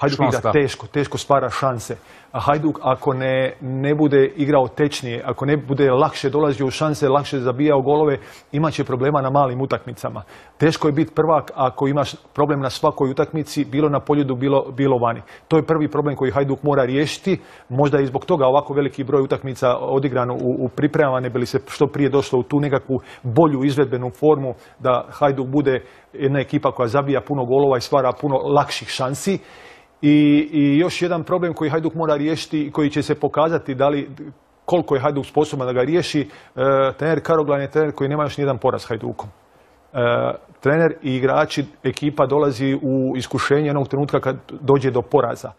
Hajduk igra teško stvara šanse. A Hajduk ako ne bude igrao tečnije, ako ne bude lakše dolazio u šanse, lakše zabijao golove, imat će problema na malim utakmicama. Teško je biti prvak ako imaš problem na svakoj utakmici, bilo na poljudu, bilo vani. To je prvi problem koji Hajduk mora riješiti. Možda i zbog toga ovako veliki broj utakmica odigrano u pripremama, ne bi li se što prije došlo u tu nekakvu bolju izvedbenu formu, da Hajduk bude jedna ekipa koja zabija puno golova i stvara puno lakših šansi. I još jedan problem koji Hajduk mora riješiti i koji će se pokazati koliko je Hajduk sposoban da ga riješi. Trener Karoglan je trener koji nema još nijedan poraz Hajdukom. Trener i igrači, ekipa dolazi u iskušenje jednog trenutka kad dođe do poraza.